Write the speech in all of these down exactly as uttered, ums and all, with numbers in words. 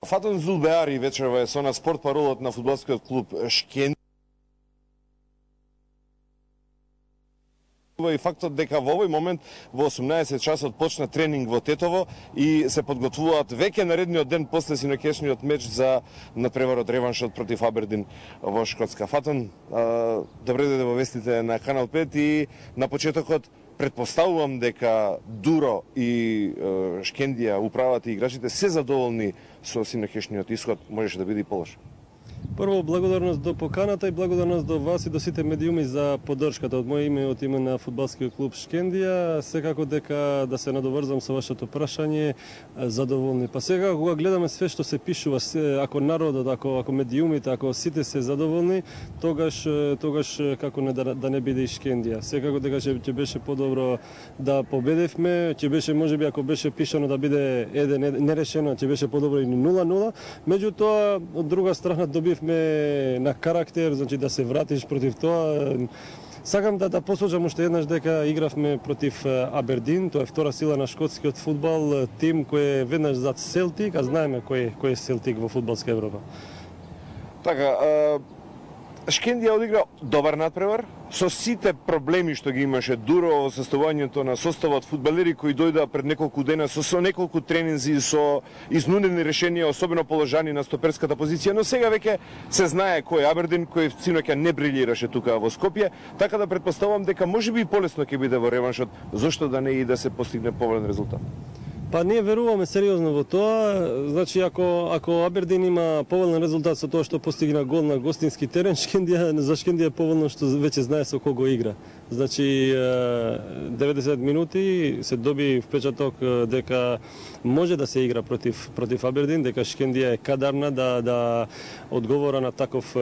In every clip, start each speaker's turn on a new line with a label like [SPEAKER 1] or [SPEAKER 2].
[SPEAKER 1] Фатон Зулбеари вечерва е со на спорт паролот на фудбалскиот клуб Шкендија и фактот дека во овој момент во осумнаесет часот почна тренинг во Тетово и се подготвуваат веќе наредниот ден после синокешниот меч за надпреварот реваншот против Абердин во Шкотска. Фатон, добре дојде во вестите на Канал пет и на почетокот претпоставувам дека Дуро и е, Шкендија, управата и играчите се задоволни со синокешниот исход, можеше да биде и полош.
[SPEAKER 2] Прво, благодарност до поканата и благодарност до вас и до сите медиуми за поддршката од моје име и од име на фудбалскиот клуб Шкендија. Секако дека да се надоврзам со вашето прашање, задоволни. Па сега кога гледаме све што се пишува, ако народот, ако ако медиумите, ако сите се задоволни, тогаш тогаш како не да, да не биде и Шкендија. Секако дека ќе, ќе беше подобро да победевме, ќе беше можеби ако беше пишано да биде еден нерешено, ќе беше подобро и нула нула. Меѓутоа, од друга страна добивме на карактер, значи да се вратиш против тоа. Сакам да да посочам уште еднаш дека игравме против Абердин, тоа е втора сила на шкотскиот фудбал, тим кој е веднаш зад Селтик, а знаеме кој кој е Селтик во фудбалска Европа.
[SPEAKER 1] Така, Шкендија одигра добар надпревар, со сите проблеми што ги имаше Дуро во составувањето на составот фудбалери кои дојдоа пред неколку дена со, со неколку тренинзи, со изнудени решенија, особено положани на стоперската позиција, но сега веќе се знае кој е Абердин, кој синоќа не брилираше тука во Скопје, така да претпоставувам дека можеби и полесно ќе биде во реваншот, зошто да не и да се постигне поволен резултат.
[SPEAKER 2] Па ние веруваме сериозно во тоа. Значи ако ако Абердин има поволен резултат со тоа што постигна гол на гостински терен, Шкендија за Шкендија е поволно што веќе знае со кого игра. Значи деветдесет минути се доби впечаток дека може да се игра против против Абердин, дека Шкендија е кадарна да да одговора на таков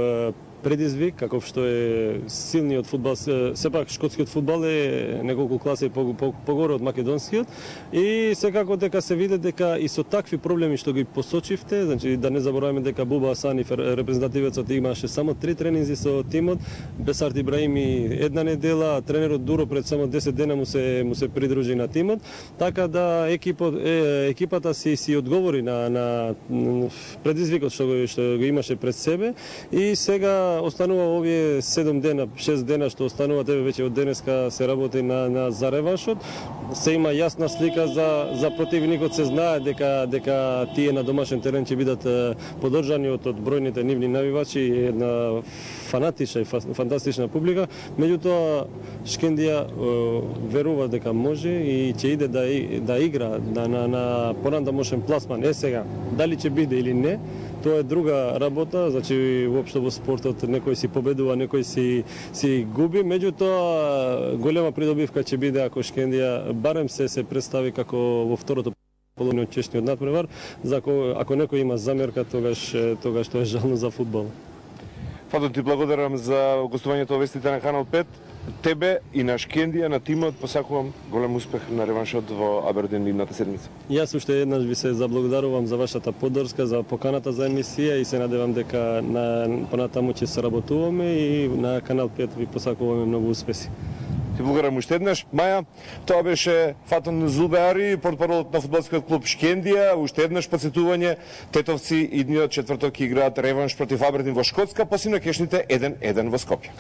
[SPEAKER 2] предизвик, каков што е силниот фудбал. Сепак шкотскиот фудбал е неколку класи погоре од македонскиот и секако дека се види дека и со такви проблеми што ги посочивте, значи да не забораваме дека Буба Асани, репрезентативецот, имаше само три тренинзи со тимот, Бесарт Ибраими една недела, тренерот Дуро пред само десет дена му се му се придружи на тимот, така да екипот е, екипата си си одговори на на предизвикот што го што го имаше пред себе и сега останува овие седум дена, шест дена што останува, тебе веќе од денеска се работи на на за реваншот. Се има јасна слика за за противникот, се знае дека дека тие на домашен терен ќе бидат поддржани од од бројните нивни навивачи и една фанатична и фантастична публика. Меѓутоа Шкендија верува дека може и ќе иде да да игра на на, на понатамошен пласман. Е сега, дали ќе биде или не, тоа е друга работа, значи воопшто во спортот некој си победува, некој си си губи, меѓутоа голема придобивка ќе биде ако Шкендија барем се се представи како во второто половина од чешниот надпревар, за ако, ако некој има замерка, тогаш тогаш тоа е жално за фудбал.
[SPEAKER 1] Фатон, ти благодарам за гостувањето во вестите на Канал пет. Тебе и на Шкендија, на тимот, посакувам голем успех на реваншот во Абердин идната седмица.
[SPEAKER 2] Јас уште еднаш ви се заблагодарувам за вашата поддршка, за поканата за емисија и се надевам дека на понатаму ќе се работуваме и на Канал пет ви посакуваме многу успеси.
[SPEAKER 1] Ти благодарам уште еднаш. Маја, тоа беше Фатон Зулбеари, портпаролот на фудбалскиот клуб Шкендија. Уште еднаш подсетување, тетовци идниот четврток играат реванш против Абердин во Шкотска, по синокешните еден еден во Скопје.